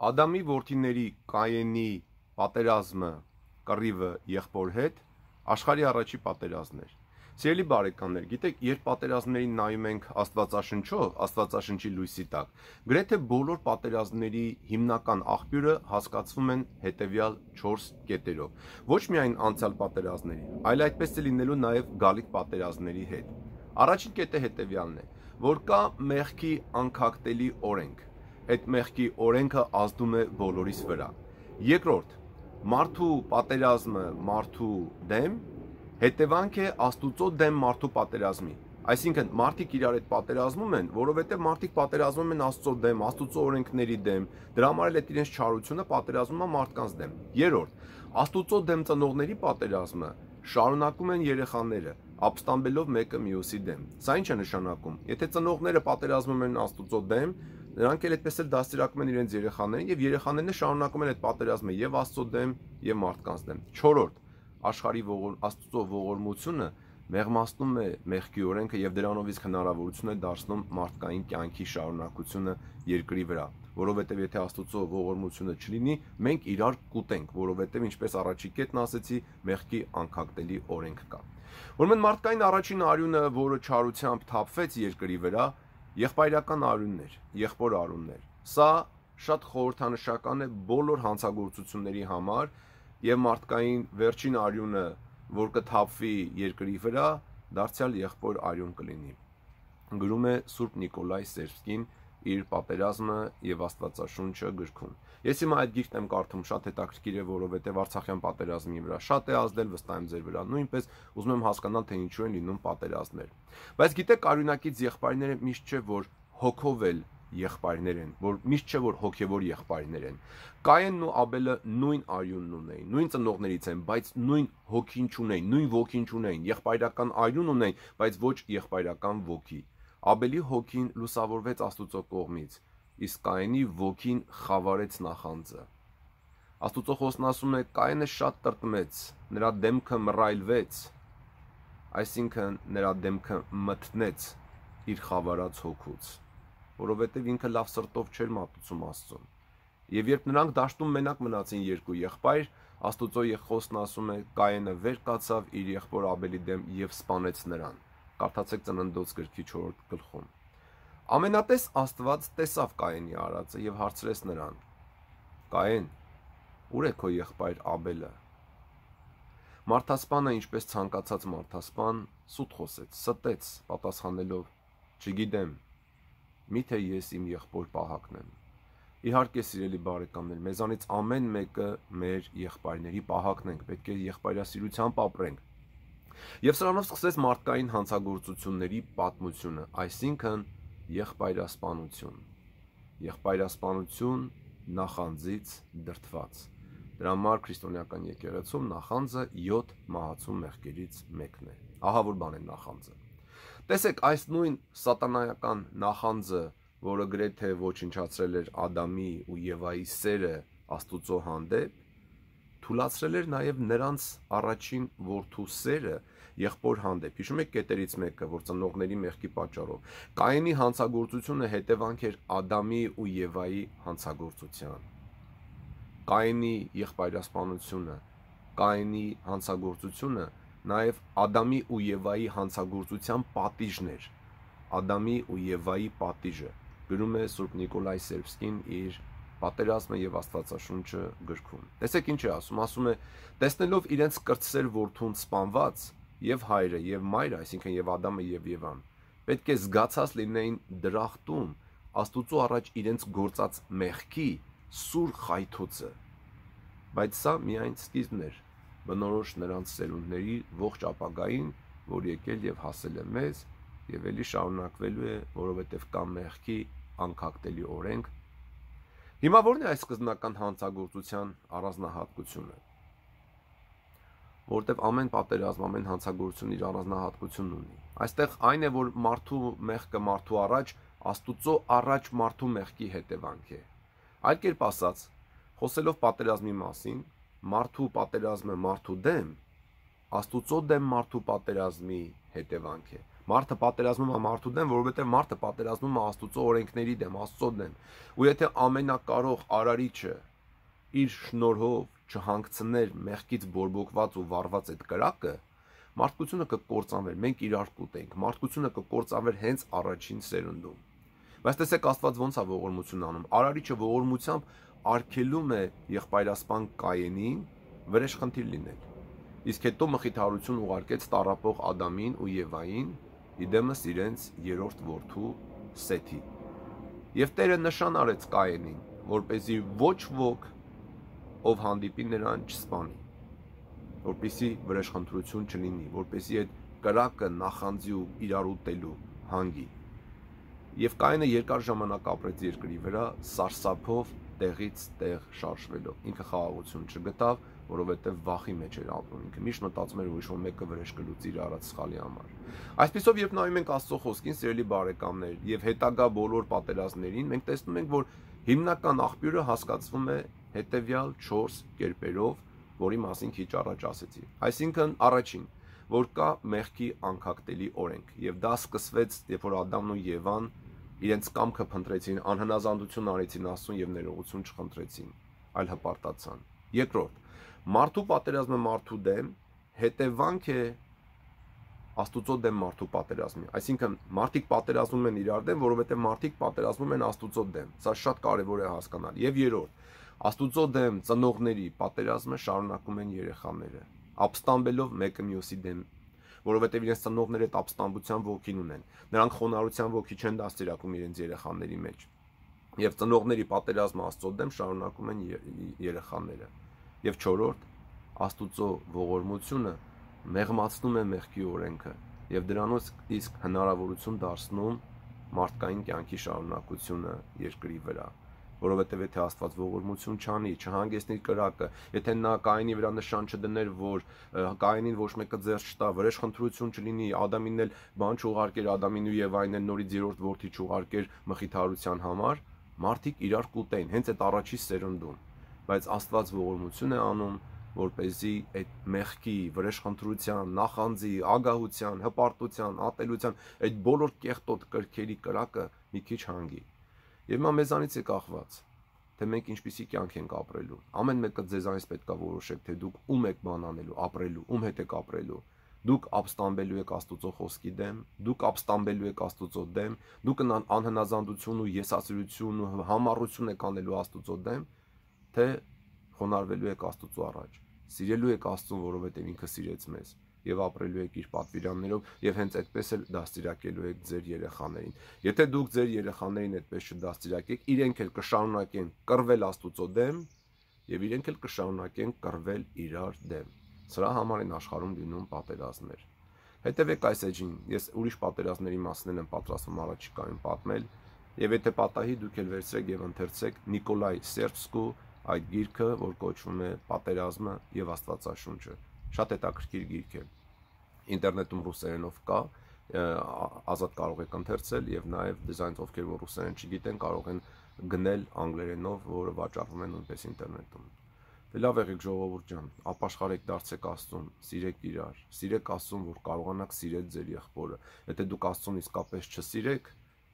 Ադամի որդիների Կայենի պատերազմը կռիվը եղբոր հետ աշխարհի առաջի պատերազմն էր։ Սիրելի բարեկամներ, գիտեք, երբ պատերազմներին նայում ենք Աստվածաշնչով, Աստվածաշնչի լույսի տակ, գրեթե բոլոր պատերազմների հիմնական աղբյուրը հասկացվում են հետևյալ 4 կետերով։ Ոչ միայն անցյալ պատերազմների, այլ այդպես է լինելու նաև գալիք պատերազմների հետ։ Առաջին կետը հետևյալն է, որ կա մեղքի անքակտելի օրենք։ Այդ մեղքի օրենքը ազդում է բոլորիս վրա։ Երկրորդ, մարդու պատերազմը մարդու դեմ հետևանք է Աստուծո դեմ մարդու պատերազմի։ Այսինքն մարդիկ իրար հետ պատերազմում են, որովհետև մարդիկ պատերազմում են Աստծո դեմ, Աստուծո օրենքների դեմ, դրա համար էլ այդ իրենց չարությունը պատերազմում է մարդկանց դեմ։ Երրորդ, Աստուծո դեմ ծնողների պատերազմը շարունակում են երեխաները, ապստամբելով մեկը մյուսի դեմ։ Սա ինչ է նշանակում։ Եթե ծնողները պատերազմում են Աստուծո դեմ, նրանք էլ այդպես էլ դաստիարակում են իրենց երեխաներին եւ երեխաներն շարունակում են այդ պատերազմը եւ Աստծո դեմ եւ մարդկանց դեմ։ Չորրորդ, աշխարհի Աստծո ողորմությունը մեղմացնում է մեղքի օրենքը եւ դրանով իսկ հնարավորություն է դարձնում մարդկային կյանքի շարունակությունը երկրի վրա, որովհետեւ եթե Աստծո ողորմությունը չլինի, մենք իրար կուտենք, որովհետեւ ինչպես առաջի կետն ասեցի, մեղքի անքակտելի օրենք կա։ Ուրեմն մարդկային առաջին արյունը, որը չարությամբ թափվեց երկրի վրա, եղբայրական արյուններ, եղբոր արյուններ։ Սա շատ խորհրդանշական է բոլոր հանցագործությունների համար եւ մարդկային վերջին արյունը, որ կթափվի երկրի վրա, դարձյալ եղբոր արյուն կլինի։ Գրում է Սուրբ Նիկոլայ Սերբսկին իր պատերազմը եւ Աստվածաշունչը գրքում։ Ես հիմա այդ գիրքն եմ կարդում, շատ հետաքրքիր է, որովհետեւ Արցախյան պատերազմի վրա շատ է ազդել, վստահ եմ ձեր վրա նույնպես, ուզում եմ հասկանալ, թե ինչու են լինում պատերազմներ։ Բայց գիտեք, արյունակից եղբայրները միշտ չէ, որ հոգով էլ եղբայրներ են, որ միշտ չէ, որ հոգևոր եղբայրներ են։ Կայենն ու Աբելը նույն արյունն ունեին, նույն ծնողներից են, բայց նույն հոգին չունեին, նույն ոգին չունեին, եղբայրական արյուն ունեին, բայց ոչ եղբայրական ոգի։ Աբելի հոգին լուսավորվեց Աստուծո կողմից, իսկ Կայենի ոգին խավարեց նախանձը։ Աստուծո խոսքն ասում է, Կայենը շատ տրտմեց, նրա դեմքը մռայլվեց, այսինքն նրա դեմքը մթնեց իր խավարած հոգուց, որովհետև ինքը լավ սրտով չէր մատուցում Աստծուն։ Եվ երբ նրանք դաշտում մենակ մնացին երկու եղբայր, Աստուծո խոսքն ասում է, Կայենը վեր կացավ իր եղբոր Աբելի դեմ եւ սպանեց նրան։ Կարդացեք Ծննդոց գրքի 4-րդ գլխում։ Ամենատես Աստված տեսավ Կայենի արածը եւ հարցրեց նրան. Կայեն, ուր է քո եղբայր Աբելը։ Մարդասպանը, ինչպես ցանկացած մարդասպան, սուտ խոսեց, ստեց, պատասխանելով. Չգիտեմ, միթե ես իմ եղբոր պահակն եմ։ Իհարկե, սիրելի բարեկամներ, մեզանից ամեն մեկը մեր եղբայրների պահակն ենք, պետք է եղբայրասիրությամբ ապրենք։ Եվ սրանով սկսեց մարդկային հանցագործությունների պատմությունը, այսինքն եղբայրասպանություն։ Եղբայրասպանություն նախանձից դրդված։ Դրա համար քրիստոնեական եկեղեցում նախանձը 7 մահացու մեղքերից մեկն է։ Ահա որ բան է նախանձը։ Տեսեք, այս նույն սատանայական նախանձը, որը գրեթե ոչնչացրել էր Ադամի ու Եվայի սերը Աստուծո հանդեպ, թուլացրել էր նաև նրանց առաջին որդու սերը եղբոր հանդեպ։ Հիշում եք կետերից մեկը, որ ծնողների մեղքի պատճառով Կայենի հանցագործությունը հետևանք էր Ադամի ու Եվայի հանցագործության։ Կայենի եղբայրասպանությունը, Կայենի հանցագործությունը նաև Ադամի ու Եվայի հանցագործության պատիժն էր։ Ադամի ու Եվայի պատիժը գրում է Սուրբ Նիկոլայ Սերբսկին իր Պատերազմը եւ Աստվածաշունչը գրքում։ Տեսեք ինչ է ասում է, տեսնելով իրենց կրտսեր որդուն սպանված, եւ հայրը եւ մայրը, այսինքն եւ Ադամը եւ Եվան, պետք է զգացած լինեին դրախտում Աստուծո առաջ իրենց գործած մեղքի սուր խայթոցը։ Բայց սա միայն սկիզբն էր, բնորոշ նրանց սերունդների ողջ ապագային, որ եկել եւ հասել է մեզ եւ ելի շարունակվելու է, որովհետեւ կա մեղքի անքակտելի օրենք։ Հիմա ո՞րն է այս սկզբնական հանցագործության առանձնահատկությունը։ Որտեւ ամեն պատերազմ, ամեն հանցագործություն իր առանձնահատկությունն ունի։ Այստեղ այն է, որ մարդու մեղքը մարդու առաջ, Աստուծո առաջ մարդու մեղքի հետևանք է։ Այլ կերպ ասած, խոսելով պատերազմի մասին, մարդու պատերազմը մարդու դեմ, Աստուծո դեմ մարդու պատերազմի հետևանք է։ Մարդը պատերազմում է մարդու դեմ, որովհետև մարդը պատերազմում է Աստծո օրենքների դեմ, Աստծո դեմ։ Ու եթե ամենակարող Արարիչը իր շնորհով չհանգցներ մեղքից բորբոքված ու վառված այդ կրակը, մարդկությունը կկործանվեր, մենք իրար կուտենք, մարդկությունը կկործանվեր հենց առաջին սերունդում։ Բայց տեսեք Աստված ոնց է ողորմություն անում։ Արարիչը ողորմությամբ արգելում է եղբայրասպան Կայենին վրեժխնդիր լինել։ Իսկ հետո մխիթարություն ուղարկեց տառապող Ադամին ու Եվային իդեմս իրենց երրորդ որդու Սեթի։ Եվ Տերը նշան արեց Կայենին, որպեսզի ոչ ոք ով հանդիպի նրան չսպանի, որպեսզի վրեժխնդրություն չլինի, որպեսզի այդ կրակը նախանձի ու իրար ուտելու հանգի։ Եվ Կայենը երկար ժամանակ ապրեց երկրի վրա, սարսափով տեղից տեղ շարժվելով։ Ինքը խաղաղություն չգտավ, որովհետև վախի մեջ էր ապրում։ Ինքը միշտ մտածում էր, որ ինչ-որ մեկը վրեժ կլուծի իր արած սխալի համար։ Այսպեսով, երբ նայում ենք Աստծո խոսքին, սիրելի բարեկամներ, եւ հետագա բոլոր պատերազմներին, մենք տեսնում ենք, որ հիմնական աղբյուրը հասկացվում է հետեւյալ 4 կերպերով, որի մասին քիչ առաջ ասեցի։ Այսինքն, առաջին, որ կա մեղքի անկախտելի օրենք, եւ դա սկսվեց, երբ որ Ադամն ու Եվան իրենց կամքը փնտրեցին, անհնազանդություն արեցին Աստծուն եւ ներողություն չխնդրեցին, այլ հպարտացան։ Երկրորդ, մարդու պատերազմը մարդու դեմ հետևանք է Աստուծո դեմ մարդու պատերազմի։ Այսինքն մարդիկ պատերազմում են իրար դեմ, որովհետև մարդիկ պատերազմում են Աստուծո դեմ։ Սա շատ կարևոր է հասկանալ։ Եվ երրորդ, Աստուծո դեմ ծնողների պատերազմը շարունակում են երեխաները, ապստամբելով մեկը մյուսի դեմ, որովհետև իրենց ծնողները այդ ապստամբության ոգին ունեն։ Նրանք խոնարհության ոգի չեն դաստիարակում իրենց երեխաների մեջ։ Եվ ծնողների պատերազմը Աստծո դեմ շարունակում են երեխաները։ Եվ չորրորդ, Աստուծո ողորմությունը մեղմացնում է մեղքի օրենքը եւ դրանով իսկ հնարավորություն դարձնում մարդկային կյանքի շարունակությունը երկրի վրա, որովհետեւ եթե Աստված ողորմություն չանի, չհանգեցնի կրակը, եթե նա Կայենի վրա նշան չդներ, որ Կայենին ոչ մեկը ձեռ չտա, վրեժխնդրություն չլինի, Ադամին էլ բան չուղարկեր, Ադամին ու Եվային էլ նորից երրորդ որդի չուղարկեր մխիթարության համար, մարդիկ իրար կուտեն հենց այդ առաջի սերունդում, բայց Աստված ողորմություն է անում, որպեսզի այդ մեղքի, վրեժխնդրության, նախանձի, ագահության, հպարտության, ատելության, այդ բոլոր կեղտոտ կրքերի կրակը մի քիչ հանգի։ Եվ հիմա մեզանից է կախված, թե մենք ինչպիսի կյանք ենք ապրելու։ Ամեն մեկը ձեզանից պետք է որոշեք, թե դուք ում եք բան անելու, ապրելու, ում հետ եք ապրելու։ Դուք ապստամբելու եք Աստուծո խոսքի դեմ, դուք ապստամբելու եք Աստուծո դեմ, դուք անհնազանդություն ու եսասիրություն ու համառություն եք անելու Աստուծո դեմ, թե խոնարհվելու եք Աստուծո առաջ, սիրելու եք Աստծուն, որովհետև ինքը սիրեց մեզ, եւ ապրելու եք իր պատվիրաններով, եւ հենց այդպես էլ դաստիարակելու եք ձեր երեխաներին։ Եթե դուք ձեր երեխաներին այդպես չդաստիարակեք, իրենք էլ կշարունակեն կռվել Աստուծո դեմ, եւ իրենք էլ կշարունակեն կռվել իրար դեմ։ Սրա համար են աշխարհում լինում պատերազմներ։ Հետևեք այս էջին, ես ուրիշ պատերազմների մասին եմ պատրաստվում առաջիկայում պատմել, եւ եթե պատահի դուք էլ վերցրեք եւ ընթերցեք Նիկոլայ Սերբսկու այդ գիրքը, որ կոչվում է Պատերազմը եւ Աստվածաշունչը։ Շատ հետաքրքիր գիրք է։ Ինտերնետում ռուսերենով կա, ազատ կարող եք ընթերցել եւ նաեւ դիզայնից ովքեր որ ռուսերեն չգիտեն, կարող են գնել անգլերենով, որը վաճառվում է նույնպես ինտերնետում։ Դե լավ եղեք ժողովուրդ ջան, ապաշխարեք, դարձեք Աստծուն, սիրեք իրար, սիրեք Աստծուն, որ կարողանաք սիրել ձեր եղբորը։ Եթե դուք Աստծուն իսկապես չսիրեք,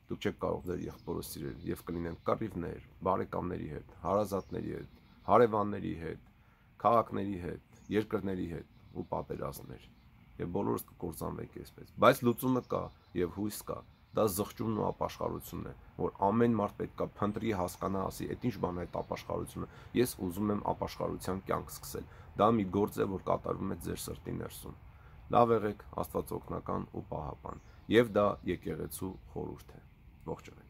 դուք չեք կարող ձեր եղբորը սիրել եւ կլինեն կռիվներ, բարեկամների հետ, հարազատների հետ, հարևանների հետ, քաղաքների հետ, երկրների հետ ու պատերազմներ։ Եվ բոլորս կկործանվենք այսպես։ Բայց լուծումը կա եւ հույս կա։ Դա զղջումն ու ապաշխարությունն է, որ ամեն մարդ պետք է փնտրի, հասկանա, ասի, այդ ինչ բան է այդ ապաշխարությունը։ Ես ուզում եմ ապաշխարության կյանք սկսել։ Դա մի գործ է, որ կատարվում է ձեր սրտի ներսում։ Լավ եղեք, Աստված օգնական ու պահապան։ Եվ դա եկեղեցու խորհուրդ է։ Ողջ եղեք։